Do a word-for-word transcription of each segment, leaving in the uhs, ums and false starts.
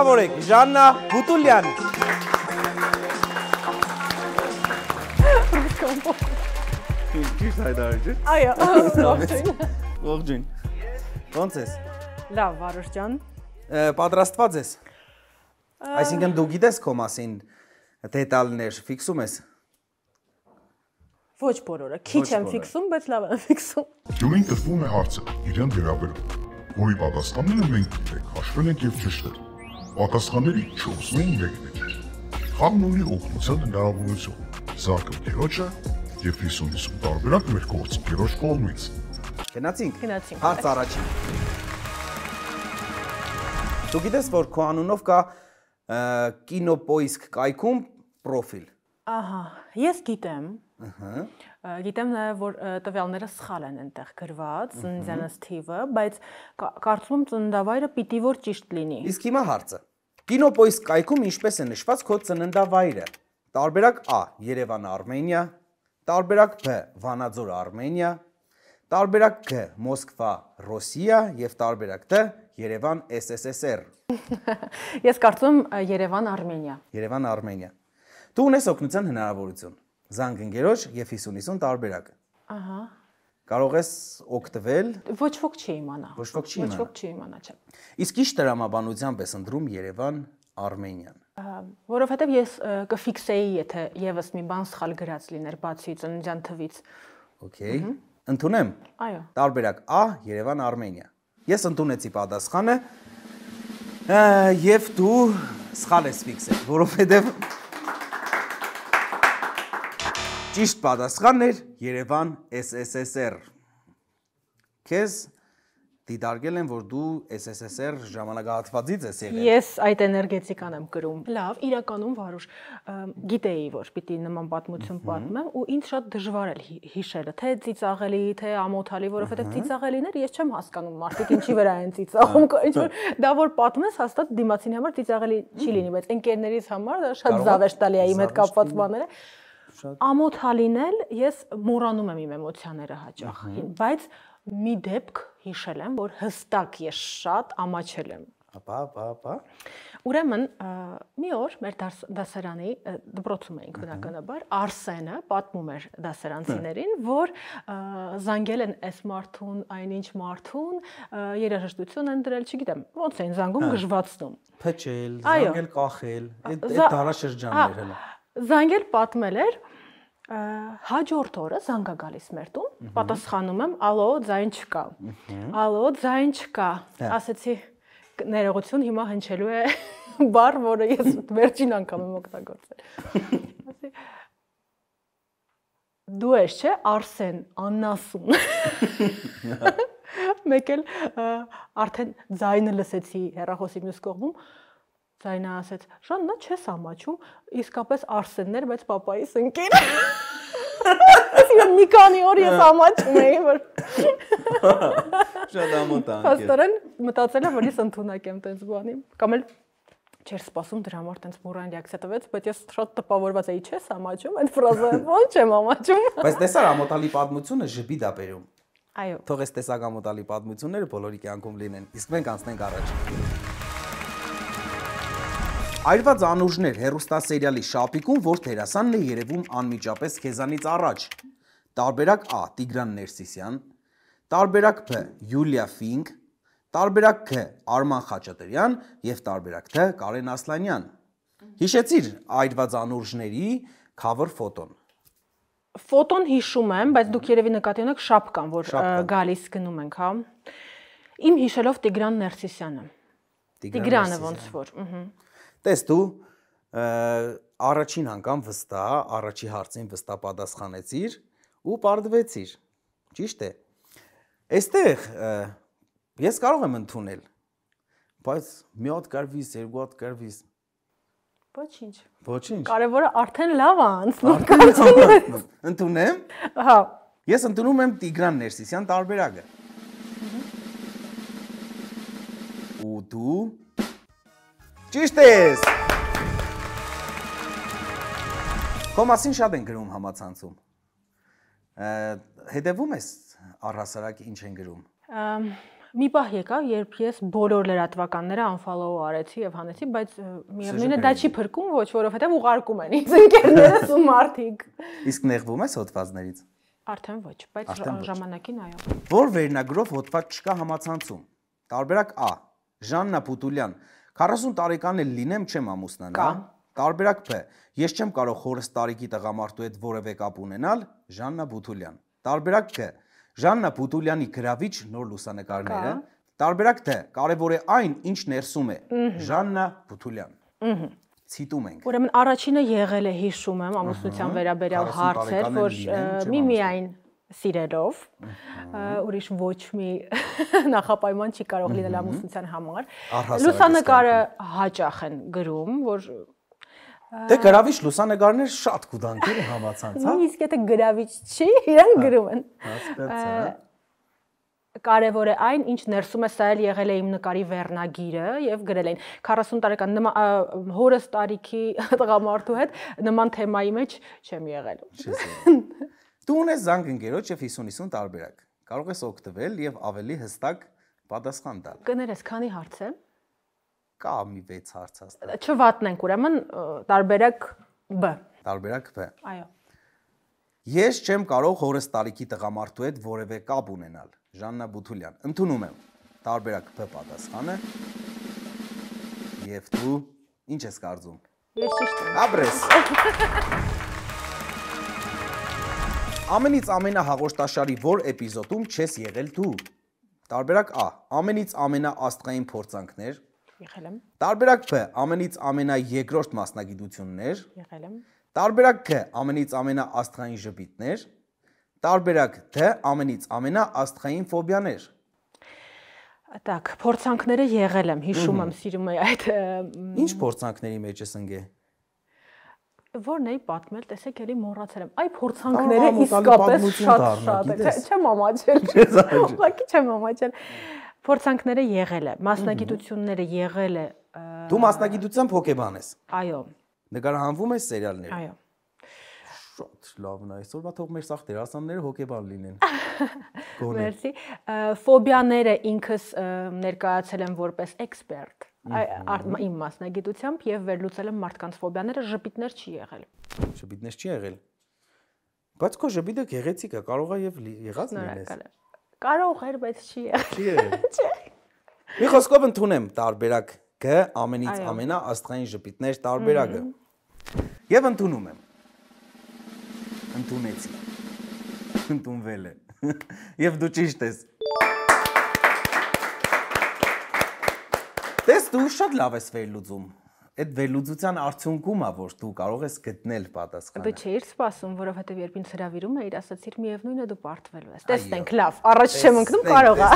Շնորհավորեք Ժաննա Բուտուլյան։ Ճիշտ հայտարարի։ Այո, ողջույն։ Ողջույն։ Ո՞նց ես։ Լավ, Վարուժ ջան։ Պատրաստված ես։ Այսինքն դու գիտես քո մասին դետալներ ֆիքսում ես։ Ոչ բոլորը, քիչ եմ ֆիքսում, բայց լավ եմ ֆիքսում։ Գյուղին տրվում է հարցը իրեն վերաբերող, որի պատասխանները մենք գիտենք, հաշվել ենք եւ ճշտել։ Պատասխանների չորսն մեկն է։ Խաղն ունի օգնության հնարավորություն։ Զարկը քերոջը եւ հիսուն տարբերակ մեր կողմից քերոջ կողմից։ Գնացինք։ Գնացինք։ Հարց առաջին։ Դու գիտես, որ քո անունով կա կինոպոիսկ կայքում պրոֆիլ։ Ահա, ես գիտեմ։ Ահա։ Գիտեմ նաև, որ տվյալները սխալ են այնտեղ գրված, ծննդյանս թիվը, բայց կարծում եմ ծննդավայրը պիտի որ ճիշտ լինի։ Իսկ հիմա հարցը։ Կինոպոիսկ կայքում ինչպես է նշված քո ծննդավայրը։ Տարբերակ A. Երևան, Արմենիա, տարբերակ B. Վանաձոր, Արմենիա, տարբերակ G. Մոսկվա, Ռոսիա եւ տարբերակ D. Երևան, S S S R։ Ես կարծում եմ Երևան, Արմենիա։ Երևան, Արմենիա։ Դու ունես օգնության հնարավորություն։ Զանգ ընկերոջ եւ հիսուն հիսուն տարբերակը։ Ահա։ Կարող ես օգտվել։ Ոչ ոք չի իմանա։ Ոչ ոք չի իմանա։ Ոչ ոք չի իմանա, չէ։ Իսկ ի՞նչ տրամաբանությամբ ես ընտրում Երևան, Արմենիան։ Որովհետև ես կֆիքսեի, եթե եւս մի բան սխալ գրած լիներ բացի ծննդյան թվից։ Okay։ Ընդունեմ։ Այո։ Տարբերակ A. Երևան, Արմենիա։ Ես ընդունեցի պատասխանը եւ դու սխալ ես ֆիքսել, որովհետեւ ճիշտ պատասխանն էր Երևան S S S R։ Քեզ դիտարկել են, որ դու S S S R ժամանակահատվածից ես եղել։ Ես այդ էներգետիկան եմ գրում։ Լավ, իրականում Վարուժ, գիտեի, որ պիտի նման պատմություն պատմեմ ու ինձ շատ դժվար էր հիշելը, թե ծիծաղելի, թե ամոթալի, որովհետև ծիծաղելիներ ես չեմ հասկանում, մարդիկ ինչի վրա են ծիծաղում, ինչ որ դա որ պատմես, հաստատ դիմացին համար ծիծաղելի չի լինի, բայց ընկերներից համար դա շատ զավեշտ տալի է իմ հետ կապված բաները։ Ամոթալին էլ ես մոռանում եմ իմ էմոցիաները հաճախ, բայց մի դեպք հիշել եմ, որ հստակ ես շատ ամաչել եմ։ Ապա, ապա, ապա։ Ուրեմն մի օր մեր դասարանի դպրոցում էինք բնականաբար, Արսենը պատմում էր դասարանցիներին, որ զանգել են այս մարդուն, այնինչ մարդուն, երաժշտություն են դրել, չգիտեմ, ոնց էին զանգում գժվացնում։ Փչել, զանգել, կախել, այդ դարաշրջաններ հələ։ Զանգել պատմել էր, հաջորդ օրը զանգա գալիս մեր տուն, պատասխանում եմ, ալո, ձայն չկա, ալո, ձայն չկա, ասեցի ներողություն, հիմա հնչելու է բառ, որը ես վերջին անգամ եմ օգտագործել։ Դու ես, չէ, Արսեն, Աննասուն։ Մեկ էլ արդեն ձայնը լսեցի հեռախոսի մյուս կողմում, ձայնը ասեց, Ժաննա, չես ամաչում, իսկապես Արսեններ, բայց պապայիս ընկեր։ Այսինքն մի քանի օր ես ամաչում էի, որ շատ ամոթանք է։ Հաստորեն մտածել եմ, որ ես ընդունակ եմ տենց բանի, կամ էլ չէր սպասում դրա համար տենց մուրան ռեակցիա տվեց, բայց ես շատ տպավորված էի, չես ամաչում, այդ ֆրազը ո՞նց եմ ամաչում։ Բայց տեսար ամոթալի պատմությունը ժպիտ է բերում։ Այո։ Թող այս տեսակ ամոթալի պատմությունները բոլորի կյանքում լինեն։ Իսկ մենք անցնենք առաջ։ Այրված անուրջներ հեռուստասերիալի շապիկում, որ դերասանն է երևում անմիջապես քեզանից առաջ։ Տարբերակ A. Տիգրան Ներսիսյան, տարբերակ B. Յուլիա Ֆինկ, տարբերակ K. Արման Խաչատրյան եւ տարբերակ T. Կարեն Ասլանյան։ Հիշեցիր այրված անուրջների cover ֆոտոն։ Ֆոտոն հիշում եմ, բայց դուք երևի նկատի ունեք շապկան, որ գալիս գնում ենք, հա։ Իմ հիշելով Տիգրան Ներսիսյանը։ Տիգրանը ոնց որ, ըհը։ Տես դու առաջին անգամ վստահ, առաջի հարցին վստահ պատասխանեցիր ու պարզվեցիր։ Ճիշտ է։ Այստեղ ես կարող եմ ընդունել, բայց մի հատ կարվիս, երկու հատ կարվիս։ Ոչինչ։ Ոչինչ։ Կարևորը արդեն լավ է անցնում։ Ընդունեմ։ Հա։ Ես ընդունում եմ Տիգրան Ներսիսյան տարբերակը։ Ու դու ճիշտ ես։ Քո մասին շատ են գրում համացանցում։ Հետևում ես առհասարակ ինչ են գրում։ Մի պահ եկավ, երբ ես բոլոր լրատվականները unfollow արեցի եւ հանեցի, բայց միևնույնն է դա չի փրկում, ոչ, որովհետեւ ուղարկում են ինձ ընկերներս ու մարդիկ։ Իսկ նեղվում ես հոդվածներից։ Արդեն ոչ, բայց ժամանակին այո։ Որ վերնագրով հոդված չկա համացանցում։ Տարբերակ A. Ժաննա Պուտուլյան, քառասուն տարեկան էլ լինեմ, չեմ ամուսնանա։ Տարբերակ Բ. Ես չեմ կարող հորս տարիքի տղամարդու հետ որևէ կապ ունենալ, Ժաննա Պուտուլյան։ Տարբերակ Ք. Ժաննա Պուտուլյանի գրավիչ նոր լուսանկարները։ Տարբերակ Դ. Կարևոր է այն, ինչ ներսում է, Ժաննա Պուտուլյան։ Ցիտում ենք։ Ուրեմն առաջինը եղել է, հիշում եմ, ամուսնության վերաբերյալ հարցեր, որ միմիայն սիրելով, ուրիշ ոչ մի նախապայման չի կարող լինել ամուսնության համար։ Լուսանկարը հաճախ են գրում, որ Դե գրավիչ լուսանկարներ շատ կուտանք են համացանց, հա։ Իսկ եթե գրավիչ չի, իրեն գրում են։ Կարևոր է այն, ինչ ներսում է, սա էլ եղել է իմ նկարի վերնագիրը եւ գրել էին քառասուն տարեկան հորս տարիքի տղամարդու հետ նման թեմայի մեջ չեմ եղել։ Դու ունես զանգ ընկերոջ եւ հիսուն հիսուն տարբերակ։ Կարող ես օգտվել եւ ավելի հստակ պատասխան տալ։ Կներես, քանի հարց է։ Կա մի վեց հարց հաստատ։ Չվատնենք, ուրեմն տարբերակ B։ Տարբերակ B։ Այո։ Ես չեմ կարող հորս տարիքի տղամարդու հետ որևէ կապ ունենալ, Ժաննա Պուտուլյան։ Ընդունում եմ տարբերակ B պատասխանը։ Եվ դու ինչ ես կարծում։ Ես ճիշտ եմ։ Ապրես։ Ամենից ամենահաղորդաշարի որ էպիզոդում չես եղել դու։ Տարբերակ A. Ամենից ամենաաստղային փորձանքներ։ Եղել եմ։ Տարբերակ Բ. Ամենից ամենաերկրորդ մասնագիտություններ։ Եղել եմ։ Տարբերակ Ք. Ամենից ամենաաստղային ժպիտներ։ Տարբերակ Դ. Ամենից ամենաաստղային ֆոբիաներ։ Так, փորձանքները եղել եմ, հիշում եմ, սիրում եմ այդ։ Ինչ փորձանքների մեջ ես ընկել։ Որն էի պատմել, տեսեք, էլի մոռացել եմ։ Այ փորձանքները իսկապես շատ շատ է։ Չեմ ամաչել։ Ուղղակի չեմ ամաչել։ Փորձանքները եղել է, մասնագիտությունները եղել է։ Դու մասնագիտությամբ հոկեբան ես։ Այո։ Նկարահանվում ես սերիալներ։ Այո։ Շատ լավն է, այսօրվա թող մեր սաղ դերասանները հոկեբան լինեն։ Մերսի։ Ֆոբիաները ինքս ներկայացել եմ որպես էքսպերտ, իմ մասնագիտությամբ եւ վերլուծել եմ մարդկանց ֆոբիաները, ժպիտներ չի եղել։ Ժպիտներ չի եղել։ Բայց քո ժպիտը գեղեցիկ է, կարող է եւ եղած լինես։ Կարող էր, բայց չի եղել։ Չի եղել։ Մի խոսքով ընդունեմ տարբերակ G ամենից ամենաաստղային ժպիտներ տարբերակը։ Եվ ընդունում եմ։ Ընդունեցի։ Ընդունվել է։ Եվ դու ճիշտ ես։ Տես դու շատ լավ ես վերլուծում։ Այդ վերլուծության արդյունքում է, որ դու կարող ես գտնել պատասխանը։ Դու չէիր սպասում, որովհետև երբ ինձ հրավիրում էիր, ասացիր միևնույնն է դու պարտվելու ես։ Տեսնենք, լավ, առաջ չեմ ընկնում, կարող է։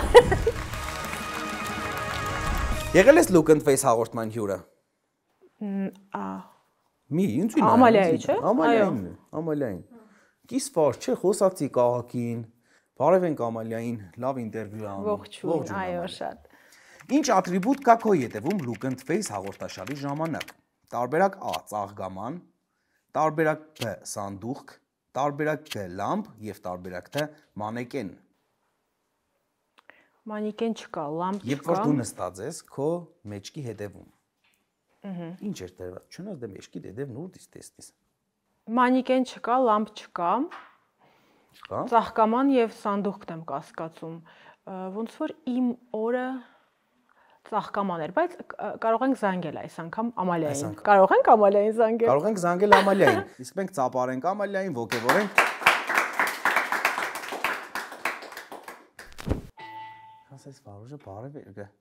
Եղել ես Look and Face հաղորդման հյուրը։ Ա Մի, ինձ ինձ։ Ամալիայի, չէ՞։ Ամալիային, Ամալիային։ Կիսվար, չէ, խոսացի քաղաքին։ Բարև ենք Ամալիային, լավ ինտերվյու անում։ Ողջույն, այո, շատ։ Ինչ ատրիբուտ կա քո ետևում Look and Face հաղորդաշարի ժամանակ։ Տարբերակ A. Ծաղկաման, տարբերակ B. Սանդուղք, տարբերակ G. Լամպ եւ տարբերակ T. Մանեկեն։ Մանեկեն չկա, լամպ չկա։ Երբ որ դու նստած ես քո մեջքի հետևում։ Ահա։ Ինչ էր դրված։ Չնայած դե մեջքի հետևն ուր դից տեսնես։ Մանեկեն չկա, լամպ չկա։ Չկա։ Ծաղկաման եւ սանդուղքն եմ կասկածում։ Ոնց որ իմ օրը ծաղկաման էր, բայց կարող ենք զանգել այս անգամ Ամալիային։ Կարող ենք Ամալիային զանգել։ Կարող ենք զանգել Ամալիային։ Իսկ մենք ծափարենք Ամալիային, ողջևորենք։ Ասես վարուժը բարև է։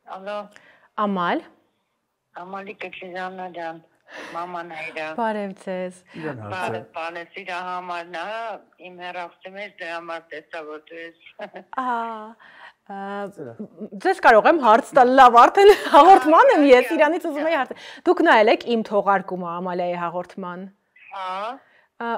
Ալո։ Ամալ։ Ամալի Կեքիզանա ջան, մաման այրա։ Բարև ձեզ։ Բարև, բարև, իրա համարն է, իմ հեռախոսի մեջ դե համար տեսա որ դու ես։ Ահա։ Ձեզ կարող եմ հարց տալ, լավ, արդեն հաղորդման եմ ես, իրանից ուզում եի հարց։ Դուք նայել եք իմ թողարկումը Ամալիայի հաղորդման։ Հա։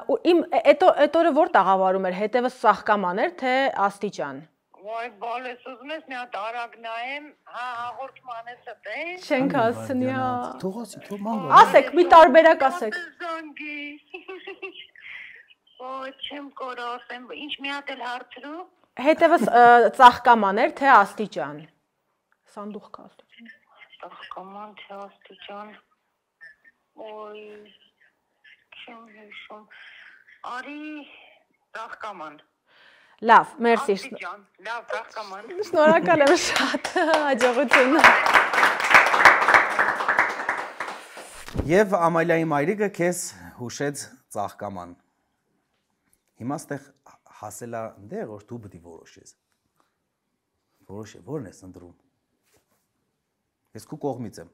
Ու իմ այդ օրը որ տաղավարում էր, հետևը Ծաղկաման էր, թե Աստիճան։ Ոայ բալես ուզում ես մի հատ արագ նայեմ, հա հաղորդման է ստե։ Չենք հասնի, հա։ Թողասի, թող ման գա։ Ասեք, մի տարբերակ ասեք։ Զանգի։ Ոայ չեմ կորա ասեմ, ինչ մի հատ էլ հարցրու։ Հետևս ծաղկաման էր, թե աստիճան։ Սանդուղ կա աստիճան։ Ծաղկաման, թե աստիճան։ Ոյ չեմ հիշում։ Արի ծաղկաման։ Լավ, մերսի։ Աստիճան, լավ, ծաղկաման։ Շնորհակալ եմ շատ, հաջողություն։ Եվ Ամալիայի մայրիկը քեզ հուշեց ծաղկաման։ Հիմա ստեղ հասելա դեր, որ դու պետք է որոշես։ Որոշե, որն ես ընտրում։ Ես քո կողմից եմ։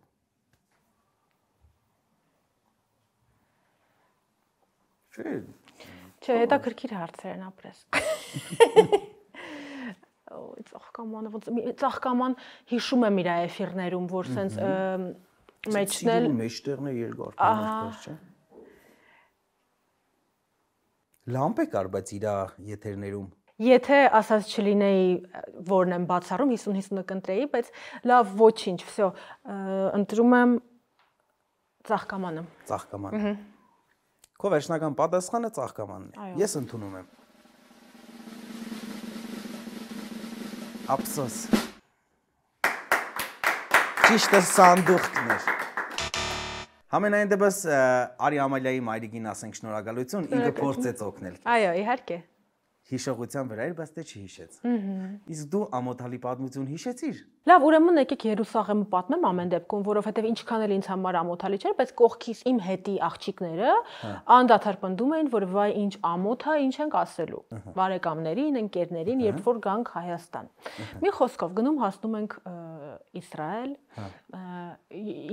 Չէ։ Չէ, հետաքրքիր հարցեր են ապրես։ Օ, ծաղկամանը ոնց ծաղկաման հիշում եմ իր էֆիրներում, որ սենց մեջնել մեջտեղն է երկար կամերտեր, չէ։ Լամպ է կար, բայց իր եթերներում։ Եթե ասած չլինեի, որն եմ բացառում, հիսուն հիսունը կընտրեի, բայց լավ, ոչինչ, всё, ընտրում եմ ծաղկամանը։ Ծաղկամանը։ Քո վերջնական պատասխանը ծաղկամանն է։ Ես ընդունում եմ։ Ափսոս։ Ճիշտը սանդուղքն էր։ Համենայն դեպս Արի Ամալիայի մայրիկին ասենք շնորհակալություն, ինքը փորձեց օգնել։ Այո, իհարկե։ Հիշողության վրա էր, բայց դե չհիշեց։ Իսկ դու ամոթալի պատմություն հիշեցիր։ Լավ, ուրեմն եկեք Երուսաղեմը պատմեմ ամեն դեպքում, որովհետև ինչքան էլ ինձ համար ամոթալի չէր, բայց կողքից իմ հետի աղջիկները անդադար պնդում էին, որ վայ ինչ ամոթ է, ինչ ենք ասելու։ Բարեկամներին, ընկերներին, երբ որ գանք Հայաստան։ Մի խոսքով գնում հասնում ենք Իսրայել,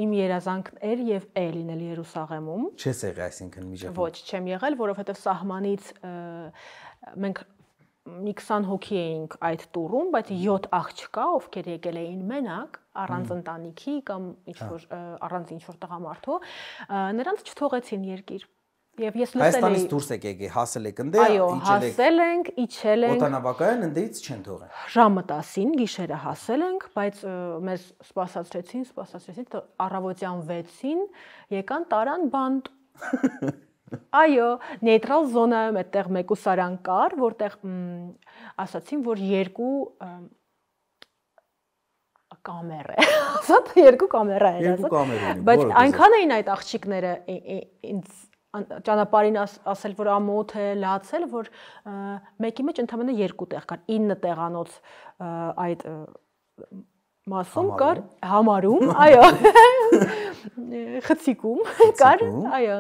իմ երազանքն էր եւ է լինել Երուսաղեմում։ Չես եղել, այսինքն միջակայքում։ Ոչ, չեմ եղել, որովհետև սահմանից մենք մի քսան հոգի էինք այդ տուրում, բայց յոթ աղջկա, ովքեր եկել էին մենակ, առանց ընտանիքի կամ ինչ-որ առանց ինչ-որ տղամարդու, նրանց չթողեցին երկիր։ Եվ ես լսել էի Հայաստանից դուրս եք եկել, հասել եք ընդ, այո, հասել ենք, իջել ենք։ Օդանավակայան ընդից չեն թողել։ Ժամը տասին գիշերը հասել ենք, բայց մեզ սպասացրեցին, սպասացրեցին առավոտյան վեցին, եկան տարան բանտ։ Այո, նեյտրալ զոնայում այդտեղ մեկուսարան կար, որտեղ ասացին, որ երկու կամեր է, ասած երկու կամերա էր, Երկու կամեր էին, բայց այնքան էին այդ աղջիկները ինձ ճանապարհին ասել, որ ամոթ է, լացել, որ մեկի մեջ ընդամենը երկու տեղ կար, ինը տեղանոց այդ մասում կար համարում, այո, խցիկում կար, այո,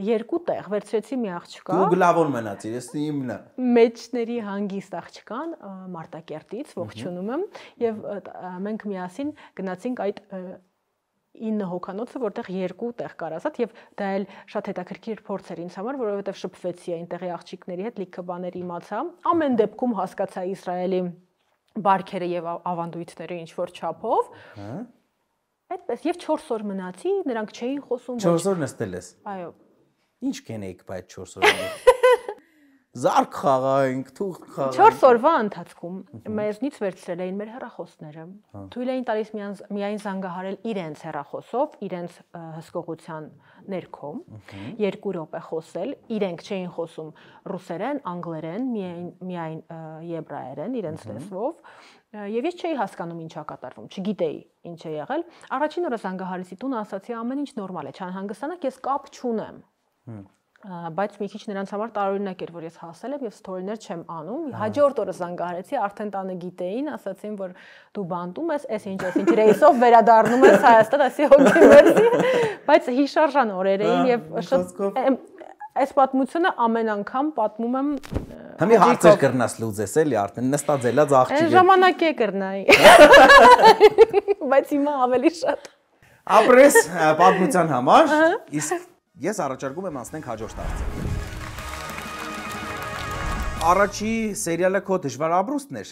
երկու տեղ վերցրեցի մի աղջկա։ Դու գլավոն մնացիր, ես իմն։ Մեջների հանգիստ աղջկան Մարտակերտից ողջունում եմ եւ մենք միասին գնացինք այդ ինը հոկանոցը, որտեղ երկու տեղ կար ասած եւ դա էլ շատ հետաքրքիր փորձ էր ինձ համար, որովհետեւ շփվեցի այնտեղի աղջիկների հետ, լիքը բաներ իմացա։ Ամեն դեպքում հասկացա Իսրայելի բարքերը եւ ավանդույթները ինչ որ չափով։ Այդպես եւ չորս օր մնացի, նրանք չէին խոսում։ չորս օր նստել ես։ Այո։ Ինչ կենեիք բայց չորս օրը։ Զարկ խաղայինք, թուղթ խաղայինք։ չորս օրվա ընթացքում մեզնից վերցրել էին մեր հեռախոսները։ Թույլ էին տալիս միայն զանգահարել իրենց հեռախոսով, իրենց հսկողության ներքո, երկու րոպե խոսել, իրենք չէին խոսում ռուսերեն, անգլերեն, միայն միայն եբրայերեն, իրենց լեզվով։ Եվ ես չէի հասկանում ինչա կատարվում, չգիտեի ինչ է եղել։ Առաջին օրը զանգահարեցի տուն, ասացի ամեն ինչ նորմալ է, չանհանգստանաք, ես կապ չունեմ։ Բայց մի քիչ նրանց համար տարօրինակ էր, որ ես հասել եմ եւ ստորիներ չեմ անում։ Հաջորդ օրը զանգահարեցի, արդեն տանը գիտեին, ասացին, որ դու բանտում ես, էս ինչ ես, ինչ ռեյսով վերադառնում ես Հայաստան, ասի հոգի մերսի, բայց հիշարժան օրեր էին եւ շատ այս պատմությունը ամեն անգամ պատմում եմ։ Համի հարցեր կրնաս լուծես էլի արդեն նստած ելած աղջիկ։ Այն ժամանակ է կրնայի։ Բայց հիմա ավելի շատ։ Ապրես պատմության համար, իսկ ես առաջարկում եմ անցնենք հաջորդ հարցը։ Առաջի սերիալը քո դժվար ապրուստն էր։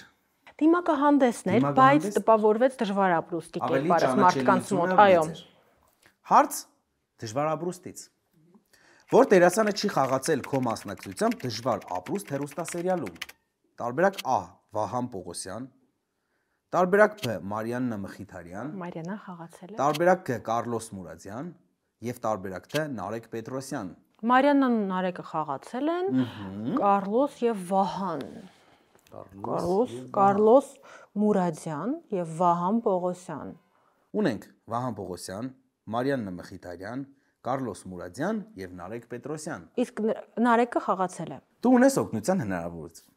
Դիմակահանդեսն էր, բայց տպավորվեց դժվար ապրուստի կերպարով մարդկանց մոտ, այո։ Հարց դժվար ապրուստից։ Որ դերասանը չի խաղացել քո մասնակցությամբ դժվար ապրուստ հեռուստասերիալում։ Տարբերակ Ա. Վահան Պողոսյան, տարբերակ Բ Մարիաննա Մխիթարյան, Մարիաննան խաղացել է։ տարբերակ Գ Կարլոս Մուրադյան եւ տարբերակ Դ Նարեկ Պետրոսյան։ Մարիաննան Նարեկը խաղացել են, Կարլոս եւ Վահան։ Կարլոս, Կարլոս Մուրադյան եւ Վահան Պողոսյան։ Ունենք Վահան Պողոսյան, Մարիաննա Մխիթարյան, Կարլոս Մուրադյան եւ Նարեկ Պետրոսյան։ Իսկ Նարեկը խաղացել է։ Դու ունես օգնության հնարավորություն։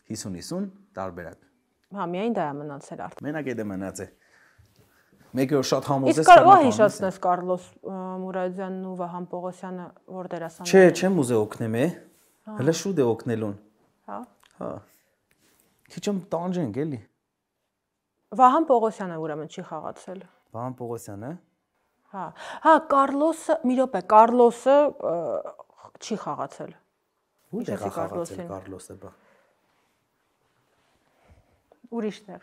հիսուն հիսուն տարբերակ։ Հա, միայն դա է մնացել արդեն։ Մենակ է դա մնացել։ Մեկը որ շատ համոզես։ Իսկ կարող է հիշեցնես Կարլոս Մուրադյանն ու Վահան Պողոսյանը որ դերասաններ։ Չէ, չեմ ուզե օգնեմ է։ Հələ շուտ է օգնելուն։ Հա։ Հա։ Քիչ եմ տանջենք էլի։ Վահան Պողոսյանը ուրեմն չի խաղացել։ Վահան Պողոսյանը։ Հա։ Հա, Կարլոսը, մի րոպե, Կարլոսը չի խաղացել։ Ո՞ւր է խաղացել Կարլոսը բա։ Ուրիշներ։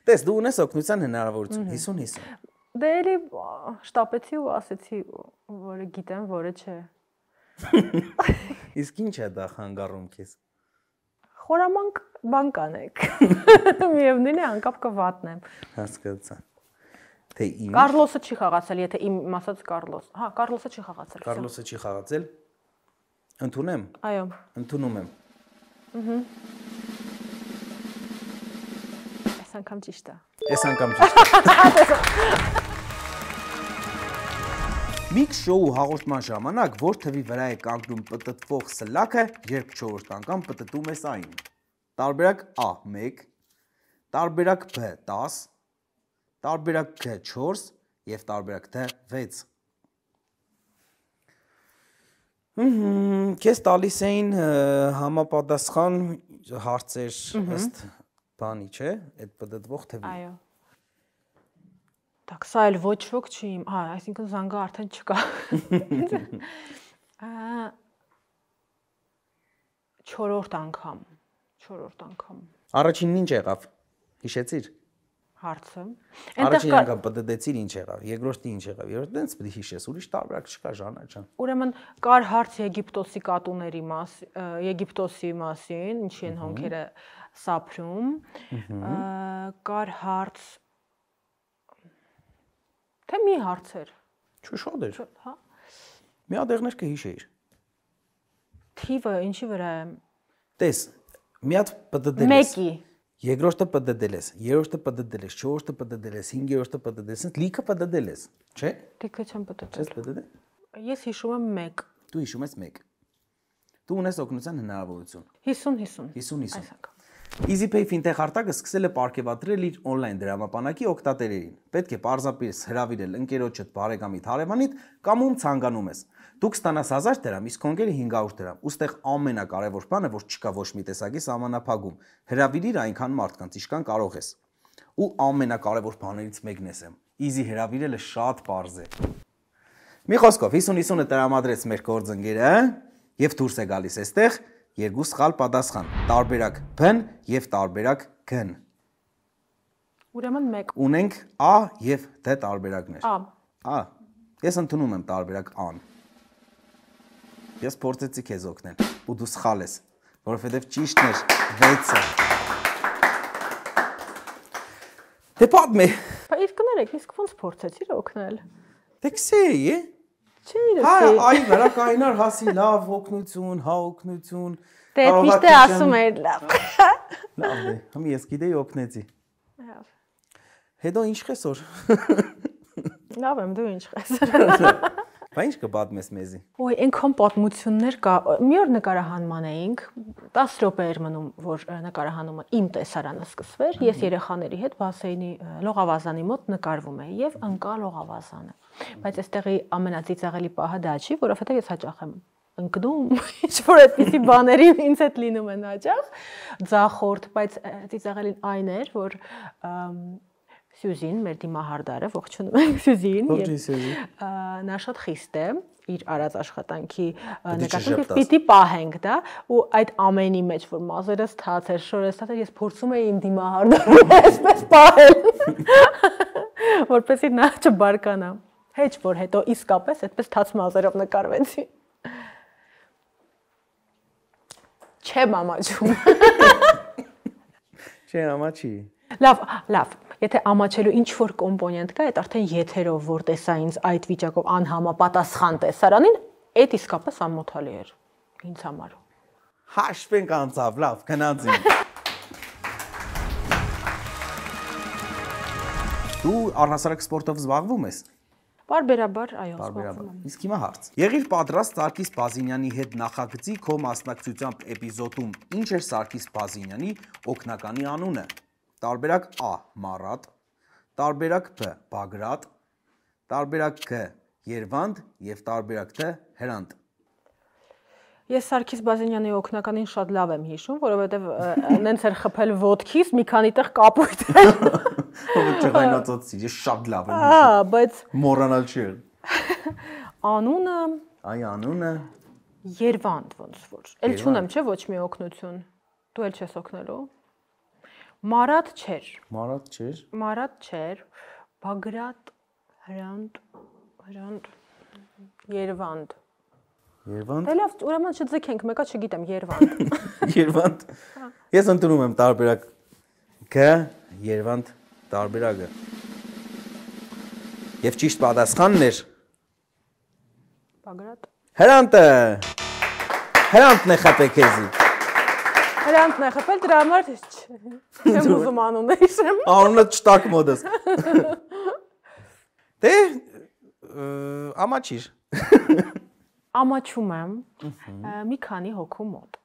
Տես դու ունես օգնության հնարավորություն հիսուն հիսուն։ Դե էլի շտապեցի ու ասեցի, որը գիտեմ, որը չէ։ Իսկ ինչ է դա խանգարում քեզ։ Խորամանկ բան կանեք։ Միևնույն է անկապ կվատնեմ։ Հասկացա։ Թե ինչ։ Կարլոսը չի խաղացել, եթե իմ ասած Կարլոս։ Հա, Կարլոսը չի խաղացել։ Կարլոսը չի խաղացել։ Ընդունեմ։ Այո։ Ընդունում եմ։ Ահա։ Այս անգամ ճիշտ է։ Այս անգամ ճիշտ է։ Միքս շոու հաղորդման ժամանակ որ թվի վրա է կանգնում պտտվող սլաքը, երբ չորրորդ անգամ պտտում ես այն։ Տարբերակ A մեկ, տարբերակ B տասը, տարբերակ G չորս եւ տարբերակ D վեց։ Հմ, քեզ տալիս էին համապատասխան հարցեր ըստ բանի, չէ՞, այդ պտտվող թվի։ Այո։ Так, սա էլ ոչ ոք չի իմ, հա, այսինքն զանգը արդեն չկա։ Չորրորդ անգամ, չորրորդ անգամ։ Առաջինն ինչ եղավ։ Հիշեցիր։ Հարցը։ Առաջին անգամ պտտեցիր ինչ եղավ, երկրորդը ինչ եղավ, երրորդը դենց պետք է հիշես, ուրիշ տարբերակ չկա Ժանա ջան։ Ուրեմն կար հարց Եգիպտոսի կատուների մասին, Եգիպտոսի մասին, ինչի են հոնքերը սափրում։ Կար հարց Թե մի հարցեր։ Չէ, շատ էր։ Հա։ Մի հատ եղներ կհիշեիր։ Թիվը ինչի վրա է։ Տես, մի հատ պտտել ես։ Մեկի։ Երկրորդը պտտել ես, երրորդը պտտել ես, չորրորդը պտտել ես, հինգերորդը պտտել ես, լիքը պտտել ես, չէ՞։ Լիքը չեմ պտտել։ Չես պտտել։ Ես հիշում եմ մեկ։ Դու հիշում ես մեկ։ Դու ունես օգնության հնարավորություն։ հիսուն հիսուն։ հիսուն հիսուն։ Այս անգամ։ EasyPay ֆինտեխ արտակը սկսել է պարգևատրել իր օնլայն դրամապանակի օգտատերերին։ Պետք է պարզապես հրավիրել ընկերոջդ, բարեկամիդ, հարևանիդ կամ ում ցանկանում ես։ Դուք ստանաս հազար դրամ, իսկ հոնքերը հինգ հարյուր դրամ։ Ոստեղ ամենակարևոր բանը, որ չկա ոչ մի տեսակի սահմանափակում։ Հրավիրիր այնքան մարդկանց, ինչքան կարող ես։ Ու ամենակարևոր բաներից մեկն եմ։ Easy հրավիրելը շատ պարզ է։ Մի խոսքով հիսուն հիսունը տրամադրեց մեր գործընկերը եւ դուրս է գալիս այստեղ երկու սխալ պատասխան, տարբերակ B-ն եւ տարբերակ G-ն։ Ուրեմն մեկ։ Ունենք A եւ D տարբերակներ։ A։ A։ Ես ընդունում եմ տարբերակ A-ն։ Ես փորձեցի քեզ օգնել, ու դու սխալ ես, որովհետեւ ճիշտն էր վեցը։ Դե պատմի։ Բա իսկ ներեք, իսկ ոնց փորձեցիր օգնել։ Դե քսեի, է։ Չէ, իրոք։ Հա, այ վրա կայնար հասի լավ օգնություն, հա օգնություն։ Դե միշտ է ասում էր լավ։ Լավ է, համ ես գիտեի օգնեցի։ Լավ։ Հետո ինչ խեսոր։ Լավ եմ, դու ինչ խես։ Բա ինչ կպատմես մեզի։ Ոյ, այնքան պատմություններ կա։ Մի օր նկարահանման էինք, տասը րոպե էր մնում, որ նկարահանումը իմ տեսարանը սկսվեր։ Ես երեխաների հետ բասեյնի լողավազանի մոտ նկարվում էի եւ ընկա լողավազանը։ Բայց այստեղի ամենածիծաղելի պահը դա չի, որովհետեւ ես հաճախ եմ ընկնում, ինչ որ այդպիսի բաների ինձ հետ լինում են հաճախ, ձախորդ, բայց ծիծաղելին այն էր, որ Սյուզին, մեր դիմահարդարը, ողջունում ենք Սյուզին, նա շատ խիստ է իր արած աշխատանքի նկատմամբ պիտի պահենք դա ու այդ ամենի մեջ որ մազերս թաց էր, շորս թաց էր, ես փորձում էի իմ դիմահարդարը այսպես պահել, որպեսզի նա չբարկանա։ Հեչ որ հետո իսկապես այդպես թաց մազերով նկարվեցի։ Չեմ ամաչում։ Չէ, ամաչի։ Լավ, լավ։ Եթե ամաչելու ինչ որ կոմպոնենտ կա, այդ արդեն եթերով որ տեսա ինձ այդ վիճակով անհամապատասխան տեսարանին, այդ իսկապես ամոթալի էր ինձ համար։ Հաշվենք անցավ, լավ, գնացինք։ Դու առհասարակ սպորտով զբաղվում ես։ Պարբերաբար, այո, զբաղվում եմ։ Իսկ հիմա հարց։ Եղիր պատրաստ Սարգիս Բազինյանի հետ նախագծի քո մասնակցությամբ էպիզոդում ինչ էր Սարգիս Բազինյանի օգնականի անունը։ Տարբերակ A. Մարատ, տարբերակ B. Բագրատ, տարբերակ G. Երվանդ եւ տարբերակ T. Հրանտ։ Ես Սարգիս Բազինյանի օգնականին շատ լավ եմ հիշում, որովհետև նենց էր խփել ոդքից, մի քանի տեղ կապույտ էր։ Ո՞վ չղայնացածի, ես շատ լավ եմ հիշում։ Ահա, բայց մոռանալ չի։ Անունը Այ անունը Երվանդ ոնց որ։ Էլ չունեմ, չէ, ոչ մի օգնություն։ Դու էլ չես օգնելու։ Մարատ չէր։ Մարատ չէր։ Մարատ չէր։ Բագրատ, Հրանտ, Հրանտ, Երվանդ։ Երվանդ։ Դե լավ, ուրեմն չձգենք, մեկը չգիտեմ, Երվանդ։ Երվանդ։ Ես ընդունում եմ տարբերակ G, Երվանդ տարբերակը։ Եվ ճիշտ պատասխանն էր Բագրատ։ Հրանտը։ Հրանտն է խփել քեզի։ Հրանտն է խփել, դրա համար չեմ ուզում անունը հիշեմ։ Անունը չտակ մոդս։ Դե ամաչիր։ Ամաչում եմ մի քանի հոգու մոտ,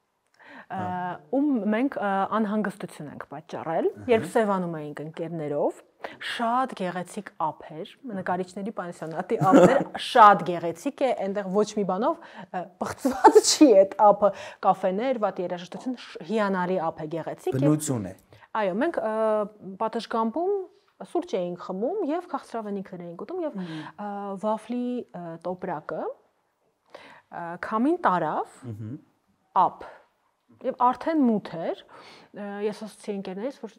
ում մենք անհանգստություն ենք պատճառել, երբ սևանում էինք ընկերներով, շատ գեղեցիկ ափ էր, նկարիչների պանսիոնատի ափ էր, շատ գեղեցիկ է, այնտեղ ոչ մի բանով բղծված չի այդ ափը, կաֆեներ, վատ երաժշտություն, հիանալի ափ է, գեղեցիկ է։ Բնություն է։ Այո, մենք պատշգամբում սուրճ էինք խմում եւ քաղցրավենիքներ էինք ուտում եւ վաֆլի տոպրակը քամին տարավ, ափ, եւ արդեն մութ էր, ես ասացի ընկերներիս, որ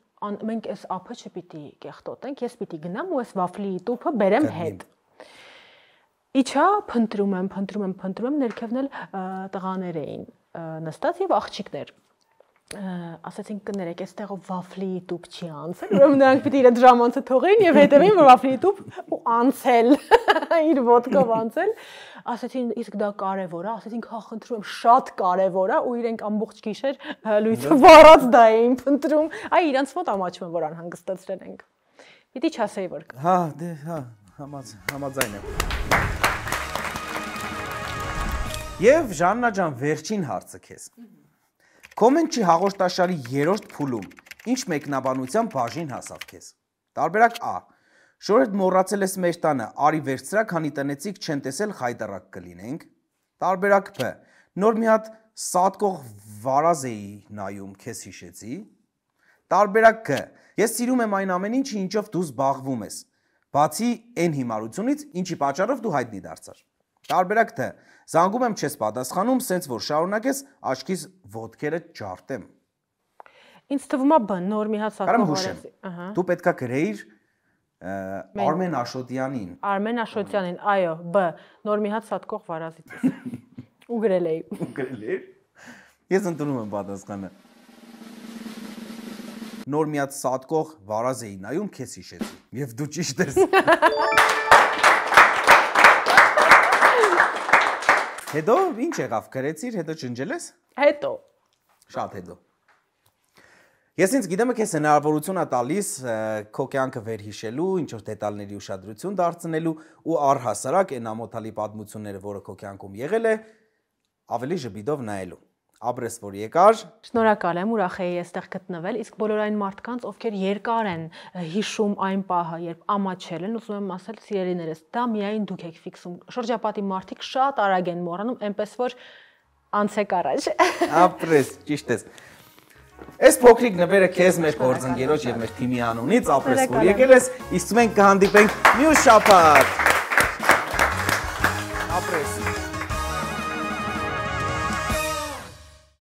մենք այս ափը չպիտի կեղտոտենք, ես պիտի գնամ ու այս վաֆլի տուփը բերեմ հետ։ Իչա, փնտրում եմ, փնտրում եմ, փնտրում եմ, ներքևն էլ տղաներ էին նստած եւ աղջիկներ։ Ասացինք կներեք, այստեղով վաֆլի տուփ չի անցել, ուրեմն նրանք պիտի իրենց ժամանցը թողեին եւ հետեւին որ վաֆլի տուփ ու անցել, իր ոդկով անցել։ Ասացին, իսկ դա կարևոր է, ասացինք, հա, խնդրում եմ, շատ կարևոր է ու իրենք ամբողջ գիշեր լույսը վառած դա էին փնտրում։ Այ իրանց մոտ ամաչում եմ, որ անհանգստացրել ենք։ Պիտի չասեի, որ։ Հա, դե, հա, համաձայն եմ։ Եվ Ժաննա ջան, վերջին հարցը քեզ։ Կոմենտի հաղորդաշարի երրորդ փուլում ինչ մեկնաբանության բաժին հասավ քեզ։ Տարբերակ A. Շորդ մոռացել ես մեր տանը, արի վերցրա, քանի տնեցիկ չեն տեսել խայտարակ կլինենք։ Տարբերակ B. Նոր մի հատ սատկող վարազ էի նայում, քեզ հիշեցի։ Տարբերակ G. Ես սիրում եմ այն ամեն ինչը, ինչով դու զբաղվում ես։ Բացի այն հիմարությունից, ինչի պատճառով դու հայտնի դարձար։ Տարբերակ T. Զանգում եմ չես պատասխանում, սենց որ շարունակես, աչքիս ոտքերը ջարդեմ։ Ինձ թվում է B. Նոր մի հատ սատկող վարազ։ Դու պետքա գրեիր Արմեն Աշոտյանին։ Արմեն Աշոտյանին, այո, B. Նոր մի հատ սատկող վարազից։ Ու գրել էի։ Ու գրել էի։ Ես ընդունում եմ պատասխանը։ Նոր մի հատ սատկող վարազ էի նայում, քեզ հիշեցի։ Եվ դու ճիշտ ես։ Հետո ինչ եղավ, գրեցիր, հետո ջնջել ես։ Հետո։ Շատ հետո։ Ես ինձ գիտեմ եք ես հնարավորություն է տալիս քո կյանքը վերհիշելու, ինչ որ դետալների ուշադրություն դարձնելու ու առհասարակ այն ամոթալի պատմությունները, որը քո կյանքում եղել է, ավելի ժպիտով նայելու։ Ապրես որ եկար։ Շնորհակալ եմ, ուրախ էի այստեղ գտնվել, իսկ բոլոր այն մարդկանց, ովքեր երկար են հիշում այն պահը, երբ ամաչել են, ուզում եմ ասել սիրելիներս, դա միայն դուք եք ֆիքսում։ Շրջապատի մարդիկ շատ արագ են մոռանում, այնպես որ անցեք առաջ։ Ապրես, ճիշտ ես։ Այս փոքրիկ նվերը քեզ մեր գործընկերոջ եւ մեր թիմի անունից ապրես որ եկել ես, իսկ մենք կհանդիպենք մյուս շաբաթ։